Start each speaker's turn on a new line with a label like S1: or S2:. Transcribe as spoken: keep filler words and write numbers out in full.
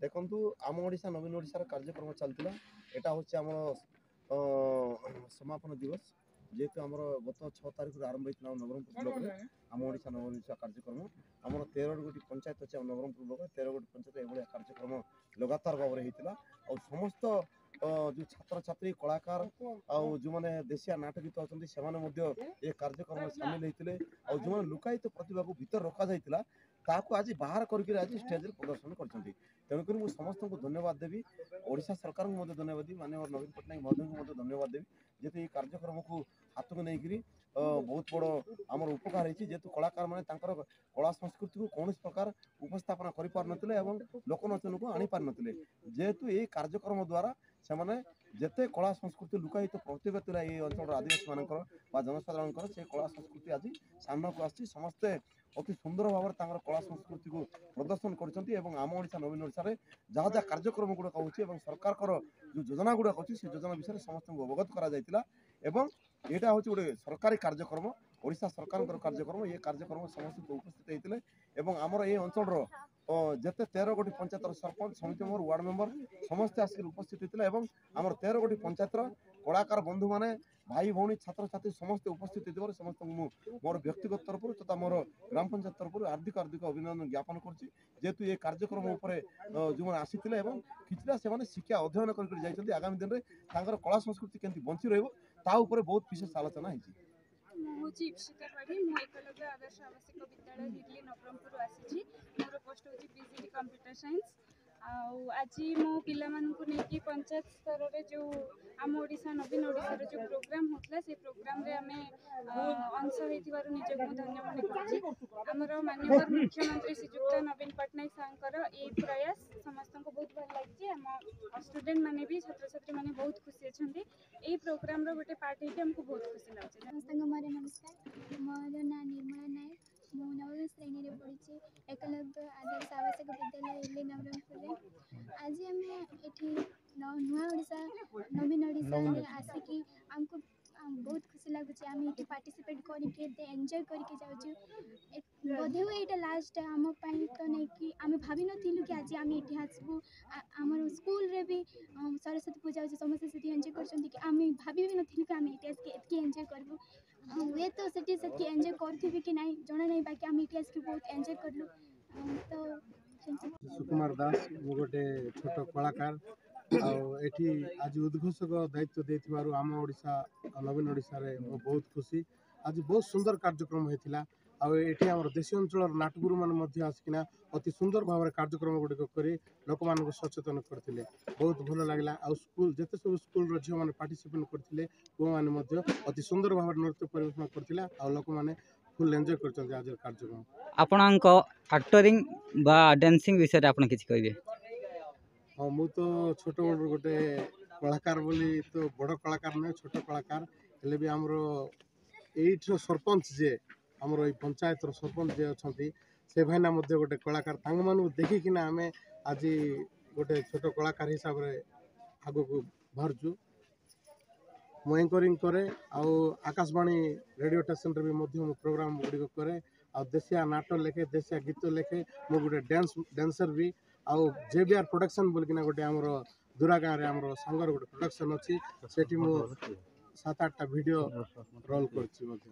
S1: ଦେଖନ୍ତୁ, ଆମ ଓଡ଼ିଶା ନବୀନ ଓଡ଼ିଶାର କାର୍ଯ୍ୟକ୍ରମ ଚାଲିଥିଲା। ଏଇଟା ହେଉଛି ଆମର ସମାପନ ଦିବସ। ଯେହେତୁ ଆମର ଗତ ଛଅ ତାରିଖରୁ ଆରମ୍ଭ ହେଇଥିଲା ଆମ ନବରଙ୍ଗପୁର ବ୍ଲକରେ ଆମ ଓଡ଼ିଶା ନବୀନ ଓଡ଼ିଶା କାର୍ଯ୍ୟକ୍ରମ। ଆମର ତେର ଗୋଟି ପଞ୍ଚାୟତ ଅଛି ଆମ ନବରଙ୍ଗପୁର ବ୍ଲକରେ। ତେର ଗୋଟି ପଞ୍ଚାୟତ ଏଭଳିଆ କାର୍ଯ୍ୟକ୍ରମ ଲଗାତାର ଭାବରେ ହେଇଥିଲା। ଆଉ ସମସ୍ତ ଯେଉଁ ଛାତ୍ରଛାତ୍ରୀ, କଳାକାର ଆଉ ଯେଉଁମାନେ ଦେଶିଆ ନାଟ ଗୀତ ଅଛନ୍ତି, ସେମାନେ ମଧ୍ୟ ଏ କାର୍ଯ୍ୟକ୍ରମରେ ସାମିଲ ହେଇଥିଲେ। ଆଉ ଯେଉଁମାନେ ଲୁକାୟିତ ପ୍ରତିଭାକୁ ଭିତରେ ରଖାଯାଇଥିଲା, ତାହାକୁ ଆଜି ବାହାର କରିକିରି ଆଜି ଷ୍ଟେଜରେ ପ୍ରଦର୍ଶନ କରିଛନ୍ତି। ତେଣୁକରି ମୁଁ ସମସ୍ତଙ୍କୁ ଧନ୍ୟବାଦ ଦେବି, ଓଡ଼ିଶା ସରକାରଙ୍କୁ ମଧ୍ୟ ଧନ୍ୟବାଦ ଦେବି, ମାନ୍ୟବର ନବୀନ ପଟ୍ଟନାୟକ ମହୋଦୟଙ୍କୁ ମଧ୍ୟ ଧନ୍ୟବାଦ ଦେବି, ଯେହେତୁ ଏଇ କାର୍ଯ୍ୟକ୍ରମକୁ ହାତକୁ ନେଇକରି ବହୁତ ବଡ଼ ଆମର ଉପକାର ହେଇଛି। ଯେହେତୁ କଳାକାରମାନେ ତାଙ୍କର କଳା ସଂସ୍କୃତିକୁ କୌଣସି ପ୍ରକାର ଉପସ୍ଥାପନା କରିପାରୁନଥିଲେ ଏବଂ ଲୋକଲୋଚନକୁ ଆଣିପାରିନଥିଲେ, ଯେହେତୁ ଏଇ କାର୍ଯ୍ୟକ୍ରମ ଦ୍ୱାରା ସେମାନେ ଯେତେ କଳା ସଂସ୍କୃତି ଲୁକାୟିତ ପ୍ରତିଭା ଥିଲା ଏଇ ଅଞ୍ଚଳର ଆଦିବାସୀମାନଙ୍କର ବା ଜନସାଧାରଣଙ୍କର, ସେ କଳା ସଂସ୍କୃତି ଆଜି ସାମ୍ନାକୁ ଆସିଛି। ସମସ୍ତେ ଅତି ସୁନ୍ଦର ଭାବରେ ତାଙ୍କର କଳା ସଂସ୍କୃତିକୁ ପ୍ରଦର୍ଶନ କରିଛନ୍ତି ଏବଂ ଆମ ଓଡ଼ିଶା ନବୀନ ଓଡ଼ିଶାରେ ଯାହା ଯାହା କାର୍ଯ୍ୟକ୍ରମ ଗୁଡ଼ାକ ହେଉଛି ଏବଂ ସରକାରଙ୍କର ଯେଉଁ ଯୋଜନା ଗୁଡ଼ାକ ଅଛି, ସେ ଯୋଜନା ବିଷୟରେ ସମସ୍ତଙ୍କୁ ଅବଗତ କରାଯାଇଥିଲା। ଏବଂ ଏଇଟା ହେଉଛି ଗୋଟେ ସରକାରୀ କାର୍ଯ୍ୟକ୍ରମ, ଓଡ଼ିଶା ସରକାରଙ୍କର କାର୍ଯ୍ୟକ୍ରମ। ଏ କାର୍ଯ୍ୟକ୍ରମ ସମସ୍ତେ ଉପସ୍ଥିତ ହେଇଥିଲେ ଏବଂ ଆମର ଏଇ ଅଞ୍ଚଳର ଯେତେ ତେର ଗୋଟି ପଞ୍ଚାୟତର ସରପଞ୍ଚ, ସମିତି ମେମ୍ବର, ୱାର୍ଡ଼ ମେମ୍ବର ସମସ୍ତେ ଆସିକି ଉପସ୍ଥିତ ହେଇଥିଲେ ଏବଂ ଆମର ତେର ଗୋଟି ପଞ୍ଚାୟତର କଳାକାର ବନ୍ଧୁମାନେ, ଭାଇ ଭଉଣୀ, ଛାତ୍ରଛାତ୍ରୀ ସମସ୍ତେ ଉପସ୍ଥିତ ହେଇଥିବାରୁ ସମସ୍ତଙ୍କୁ ମୁଁ ମୋର ବ୍ୟକ୍ତିଗତ ତରଫରୁ ତଥା ମୋର ଗ୍ରାମ ପଞ୍ଚାୟତ ତରଫରୁ ହାର୍ଦ୍ଦିକ ହାର୍ଦ୍ଦିକ ଅଭିନନ୍ଦନ ଜ୍ଞାପନ କରୁଛି। ଯେହେତୁ ଏ କାର୍ଯ୍ୟକ୍ରମ ଉପରେ ଯେଉଁମାନେ ଆସିଥିଲେ ଏବଂ କିଛିଟା ସେମାନେ ଶିକ୍ଷା ଅଧ୍ୟୟନ କରିକି ଯାଇଛନ୍ତି, ଆଗାମୀ ଦିନରେ ତାଙ୍କର କଳା ସଂସ୍କୃତି କେମିତି ବଞ୍ଚି ରହିବ ତା ଉପରେ ବହୁତ ବିଶେଷ ଆଲୋଚନା ହେଇଛି।
S2: ମୁଁ ହେଉଛି ଇପ୍ସିତା ପାଢ଼ୀ। ମୁଁ ଏକଲବ୍ୟ ଆଦର୍ଶ ଆବାସିକ ବିଦ୍ୟାଳୟ, ହିର୍ଲି, ନବରଙ୍ଗପୁରରୁ ଆସିଛି। ମୋର ପୋଷ୍ଟ ହେଉଛି P G T computer science. ଆଉ ଆଜି ମୁଁ ପିଲାମାନଙ୍କୁ ନେଇକି ପଞ୍ଚାୟତ ସ୍ତରରେ ଯେଉଁ ଆମ ଓଡ଼ିଶା ନବୀନ ଓଡ଼ିଶାର ଯେଉଁ ପ୍ରୋଗ୍ରାମ୍ ହେଉଥିଲା, ସେଇ ପ୍ରୋଗ୍ରାମ୍ରେ ଆମେ ଅଂଶ ହେଇଥିବାରୁ ନିଜକୁ ମୁଁ ଧନ୍ୟ ମନେ କରୁଛି। ଆମର ମାନ୍ୟବର ମୁଖ୍ୟମନ୍ତ୍ରୀ ଶ୍ରୀଯୁକ୍ତ ନବୀନ ପଟ୍ଟନାୟକ ସାର୍ଙ୍କର ଏଇ ପ୍ରୟାସ ସମସ୍ତଙ୍କୁ ବହୁତ ଭଲ ଲାଗିଛି। ଆମ ଷ୍ଟୁଡେଣ୍ଟ ମାନେ ବି, ଛାତ୍ରଛାତ୍ରୀମାନେ ବହୁତ ଖୁସି ଅଛନ୍ତି। ଏଇ ପ୍ରୋଗ୍ରାମ୍ର ଗୋଟେ ପାର୍ଟ ହେଇକି ଆମକୁ ବହୁତ ଖୁସି ଲାଗୁଛି।
S3: ସମସ୍ତଙ୍କୁ ମୋର ନମସ୍କାର। ମୋର ନାଁ ନିର୍ମଳା ନାୟକ। ମୁଁ ନବମ ଶ୍ରେଣୀରେ ପଢ଼ୁଛି ଏକଲବ୍ୟ ଆଦର୍ଶ ଆବାସିକ ବିଦ୍ୟାଳୟ, ଇଲି, ନବରଙ୍ଗପୁରରେ। ଆଜି ଆମେ ଏଠି ନୂଆ ଓଡ଼ିଶା ନବୀନ ଓଡ଼ିଶାରେ ଆସିକି ଆମକୁ ବହୁତ ଖୁସି ଲାଗୁଛି। ଆମେ ଏଠି ପାର୍ଟିସିପେଟ୍ କରିକି ଏତେ ଏନ୍ଜୟ କରିକି ଯାଉଛୁ। ବୋଧେ ହୁଏ ଏଇଟା ଲାଷ୍ଟ ଆମ ପାଇଁ ତ ନେଇକି ଆମେ ଭାବିନଥିଲୁ କି ଆଜି ଆମେ ଏଠି ଆସିବୁ। ଆମର ସ୍କୁଲରେ ବି ସରସ୍ୱତୀ ପୂଜା ହେଉଛି, ସମସ୍ତେ ସେଠି ଏନ୍ଜୟ କରୁଛନ୍ତି କି ଆମେ ଭାବି ବି ନଥିଲୁ କି ଆମେ ଏଠି ଆସିକି ଏତିକି ଏନ୍ଜୟ କରିବୁ। ହୁଏତ ସେଠି ସେତିକି ଏନ୍ଜୟ କରୁଥିବି କି ନାହିଁ ଜଣା ନାହିଁ, ବାକି ଆମେ ଏଠି ଆସିକି ବହୁତ ଏନ୍ଜୟ କଲୁ। ତ
S4: ସୁକୁମାର ଦାସ, ମୁଁ ଗୋଟେ ଛୋଟ କଳାକାର। ଆଉ ଏଠି ଆଜି ଉଦ୍ଘୋଷକ ଦାୟିତ୍ୱ ଦେଇଥିବାରୁ ଆମ ଓଡ଼ିଶା ନବୀନ ଓଡ଼ିଶାରେ ମୁଁ ବହୁତ ଖୁସି। ଆଜି ବହୁତ ସୁନ୍ଦର କାର୍ଯ୍ୟକ୍ରମ ହେଇଥିଲା। ଆଉ ଏଠି ଆମର ଦେଶୀ ଅଞ୍ଚଳର ନାଟଗୁରୁମାନେ ମଧ୍ୟ ଆସିକିନା ଅତି ସୁନ୍ଦର ଭାବରେ କାର୍ଯ୍ୟକ୍ରମ ଗୁଡ଼ିକ କରି ଲୋକମାନଙ୍କୁ ସଚେତନ କରିଥିଲେ। ବହୁତ ଭଲ ଲାଗିଲା। ଆଉ ସ୍କୁଲ ଯେତେ ସବୁ ସ୍କୁଲର ଝିଅମାନେ ପାର୍ଟିସିପେଟ୍ କରିଥିଲେ, ପୁଅମାନେ ମଧ୍ୟ ଅତି ସୁନ୍ଦର ଭାବରେ ନୃତ୍ୟ ପରିବେଷଣ କରିଥିଲେ ଆଉ ଲୋକମାନେ ଫୁଲ୍ ଏନ୍ଜୟ କରିଛନ୍ତି ଆଜିର କାର୍ଯ୍ୟକ୍ରମ।
S5: ଆପଣଙ୍କ ଆକ୍ଟରିଂ ବା ଡ୍ୟାନ୍ସିଂ ବିଷୟରେ ଆପଣ କିଛି କହିବେ?
S4: ହଁ, ମୁଁ ତ ଛୋଟବେଳରୁ ଗୋଟେ କଳାକାର ବୋଲି ତ ବଡ଼ କଳାକାର ନୁହେଁ, ଛୋଟ କଳାକାର ହେଲେ ବି ଆମର ଏଇଠିର ସରପଞ୍ଚ ଯିଏ, ଆମର ଏଇ ପଞ୍ଚାୟତର ସରପଞ୍ଚ ଯିଏ ଅଛନ୍ତି, ସେ ଭାଇନା ମଧ୍ୟ ଗୋଟେ କଳାକାର। ତାଙ୍କମାନଙ୍କୁ ଦେଖିକିନା ଆମେ ଆଜି ଗୋଟେ ଛୋଟ କଳାକାର ହିସାବରେ ଆଗକୁ ବାହାରୁଛୁ। ମୁଁ ଏଙ୍କରିଂ କରେ ଆଉ ଆକାଶବାଣୀ ରେଡ଼ିଓ ଷ୍ଟେସନରେ ବି ମଧ୍ୟ ମୁଁ ପ୍ରୋଗ୍ରାମ ଗୁଡ଼ିକ କରେ ଆଉ ଦେଶିଆ ନାଟ ଲେଖେ, ଦେଶିଆ ଗୀତ ଲେଖେ। ମୁଁ ଗୋଟେ ଡ୍ୟାନ୍ସ ଡ୍ୟାନ୍ସର ବି। ଆଉ ଜେ ବି ଆର୍ ପ୍ରଡକ୍ସନ୍ ବୋଲିକିନା ଗୋଟେ ଆମର ଦୁରା ଗାଁରେ ଆମର ସାଙ୍ଗର ଗୋଟେ ପ୍ରଡକ୍ସନ୍ ଅଛି, ସେଠି ମୁଁ ସାତ ଆଠଟା ଭିଡ଼ିଓ ରୋଲ୍ କରିଛି ମଧ୍ୟ।